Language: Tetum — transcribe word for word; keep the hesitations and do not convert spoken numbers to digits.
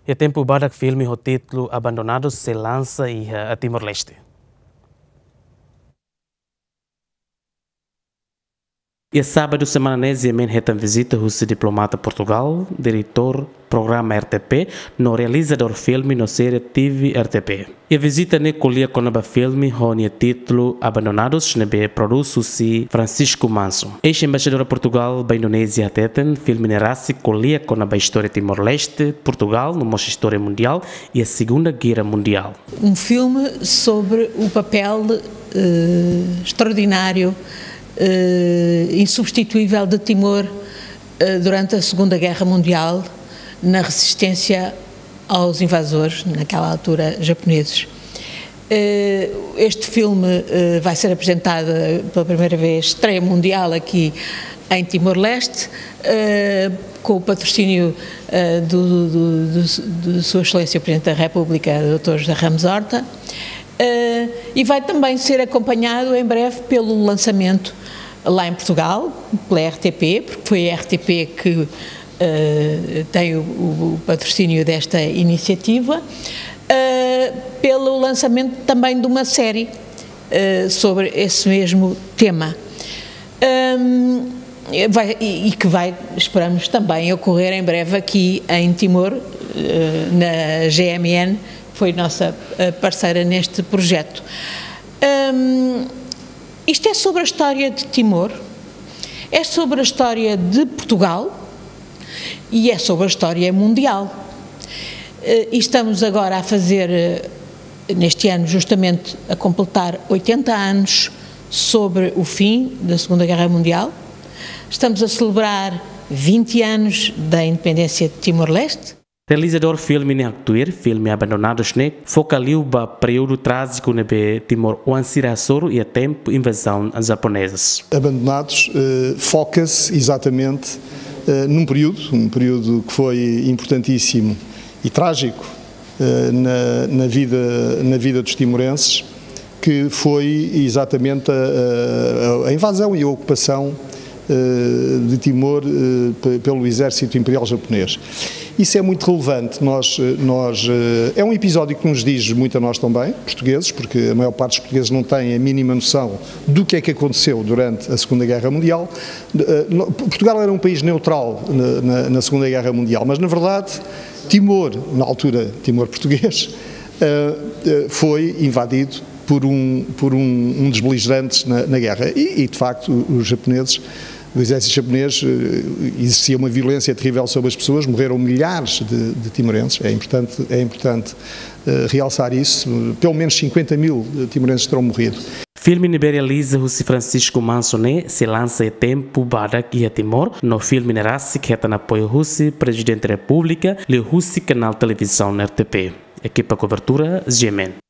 Iha tempu badak, filme ho títulu Abandonados sei lansa iha Timor-Leste. Iha sábadu semana ne'e, GMN hetan vizita husi diplomata Portugal, diretór programa R T P, no realizadór filme no série T V R T P. Iha vizita ne'e ko'alia kona-ba filme ho nia títulu Abandonados, ne'ebé prodús husi Francisco Manso. Eis-embaixadora Portugal ba Indonézia hateten, filme ne'e rasik ko'alia kona-ba istória Timor-Leste, Portugal, no mós istória mundiál iha Segunda Guerra Mundiál. Um filme sobre o papel, eh, extraordinário, eh, insubstituível de Timor, eh, durante a Segunda Guerra Mundial, na resistência aos invasores, naquela altura japoneses. Eh, este filme, eh, vai ser apresentado pela primeira vez, estreia mundial aqui em Timor-Leste, eh, com o patrocínio, eh, do, do, do, de Sua Excelência o Presidente da República, doutor José Ramos Horta, eh, e vai também ser acompanhado em breve pelo lançamento lá em Portugal, pela R T P, porque foi a R T P que, eh, tem o, o patrocínio desta iniciativa, eh, pelo lançamento também de uma série, eh, sobre esse mesmo tema. Ahm, vai, e, e que vai, esperamos, também ocorrer em breve aqui em Timor, eh, na GMN, que foi nossa, eh, parceira neste projeto. Ahm, isto é sobre a história de Timor, é sobre a história de Portugal e é sobre a história mundial. Eh, e estamos agora a fazer, eh, neste ano, justamente a completar oitenta anos sobre o fim da Segunda Guerra Mundial. Estamos a celebrar vinte anos da independência de Timor-Leste. Realizadór filme ne'e haktuir, filme Abandonados ne'e foka liu ba períodu trájiku ne'ebé Timor-oan sira hasoru iha tempu invazaun japonezas. Abandonados, eh, foca-se exatamente, eh, num período, um período que foi importantíssimo e trágico, eh, na, na vida, na vida dos timorenses, que foi exatamente a, a, a invasão e a ocupação, eh, de Timor, eh, pe-, pelo exército imperial japonês. Isso é muito relevante. Nós, eh, nós, eh, é um episódio que nos diz muito a nós também, portugueses, porque a maior parte dos portugueses não tem a mínima noção do que é que aconteceu durante a Segunda Guerra Mundial. Eh, no-, Portugal era um país neutral na, na, na Segunda Guerra Mundial, mas, na verdade, Timor, na altura Timor português, eh, eh, foi invadido por um, por um, um dos beligerantes na, na guerra. E, e, de facto, o-, os japoneses, o exército japonês, eh, exercia uma violência terrível sobre as pessoas, morreram milhares de, de timorenses. É importante, é importante, eh, realçar isso. Pelo menos cinquenta mil timorenses terão morrido. Filme ne'ebé realiza husi Francisco Manso ne'e sei lansa iha tempu badak iha Timor, no filme ne'e rasik hetan apoiu husi Prezidente Repúblika, liuhusi kanál televizaun R T P. Ekipa kobertura, GMN.